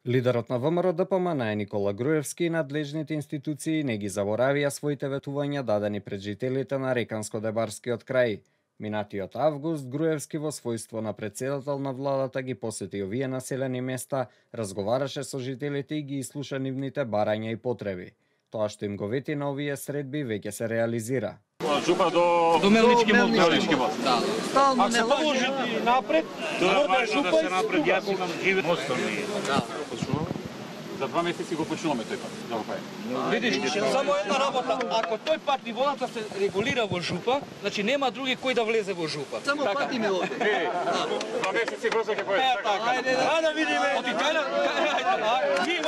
Лидерот на ВМРО-ДПМН Никола Груевски и надлежните институции не ги заборавија своите ветувања дадени пред жителите на Реканско-Дебарскиот крај. Минатиот август Груевски во својство на председател на владата ги посети овие населени места, разговараше со жителите и ги ислуша нивните барања и потреби. Тоа што им го вети на овие средби веќе се реализира. Жупа до Мелнички мост. Да. Стално не положи напред, да се напред, јас имам живе мостот. Да. За 2 месеци го почнуваме тој пат, да го правиме. Видиш, само една работа, ако тој пат и водата се регулира во Жупа, значи нема други кој да влезе во Жупа. Само пати ме оде. 2 месеци брзо ќе појде. Ајде да видиме. Оти кај ми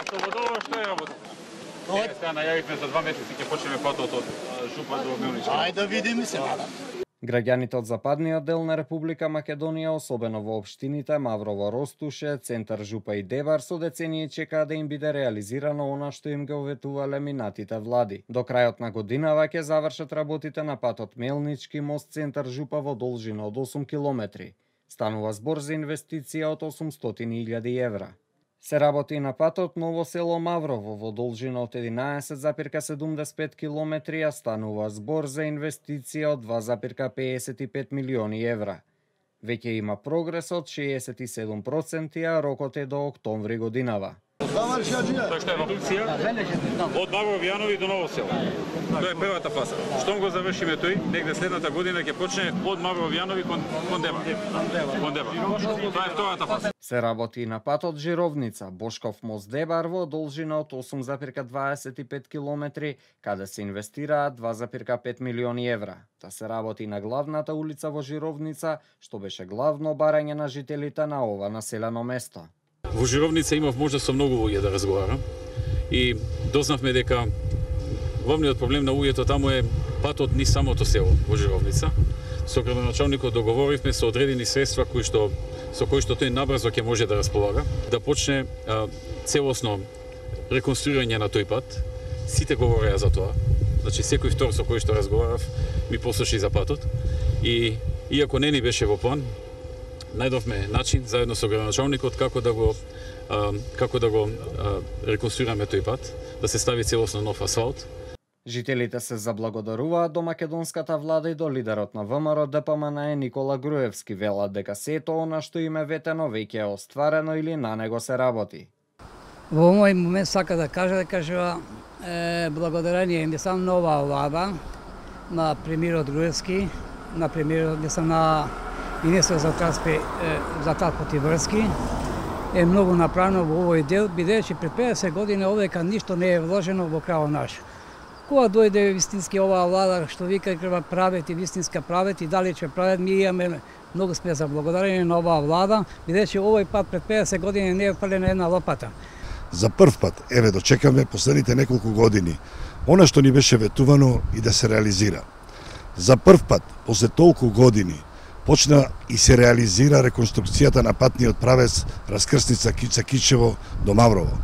Што во долу што е работа? Сега најавивме за 2 месеци ќе почнеме патот од Жупа до Милнички. Ајде да видиме се. Граѓаните од западниот дел на Република Македонија, особено во општините Маврово, Ростуше, Центар Жупа и Дебар, со децении чекаат да им биде реализирано она што им го ветувале минатите влади. До крајот на годинава ќе завршат работите на патот Мелнички мост Центар Жупа во должина од 8 километри. Станува збор за инвестиција од 800.000 евра. Се работи на патот Ново село Маврово во должина од 11,75 километри, а станува збор за инвестиција од 2,55 милиони евра. Веќе има прогрес од 67%, а рокот е до октомври годинава. Тоа што е продукција од Маврово Јанови до Ново село. Тоа е првата фаза. Штом го завршиме тој, негде следната година ќе почне од Маврово Јанови кон Дебар. Тоа е втората фаза. Се работи на патот Жировница, Бошков мост Дебар во должина од 8,25 километри, каде се инвестираат 2,5 милиони евра. Та се работи на главната улица во Жировница, што беше главно барање на жителите на ова населено место. Во Жировница имав можност со многу луѓе да разговарам и дознавме дека главниот проблем на луѓето таму е патот низ самото село во Жировница. Со градоначалникот договоривме со одредени средства со кои што тој набрзо ќе може да располага, да почне целосно реконструирање на тој пат. Сите говореа за тоа. Значи секој втор со кој што разговарав ми послуши за патот и иако не ни беше во план, најдовме начин заедно со градоначалникот како да го реконструираме тој пат, да се стави целосно нов асфалт. Жителите се заблагодаруваат до македонската влада и до лидерот на ВМРО-ДПМН Никола Груевски, велат дека сето она што им е ветено веќе е остварено или на него се работи. Во овој момент сака да кажа благодарение не само на оваа влада, на премиерот Груевски, на премиерот на Министерот за транспорт и врски, е многу направено во овој дел, бидејќи пред 50 години овдека ништо не е вложено во крајот наш. Кога дојде вистински оваа влада, што вика треба правет и вистинска правет и дали ќе правет, ми имаме многу сме за благодарение на оваа влада, бидејќи овој пат пред 50 години не е фалена една лопата. За прв пат, еве дочекаме последните неколку години, она што ни беше ветувано и да се реализира. За прв пат, после толку години, почна и се реализира реконструкцијата на патниот правец раскрсница Кица-Кичево до Маврово.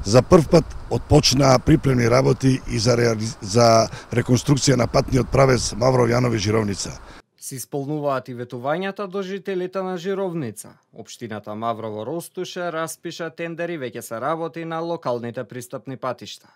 За прв пат отпочнаа припремни работи и за реконструкција на патниот правец Маврово Јанови Жировница. Се исполнуваат и ветувањата до жителите на Жировница. Општината Маврово Ростуше распиша тендери, веќе се работи на локалните пристапни патишта.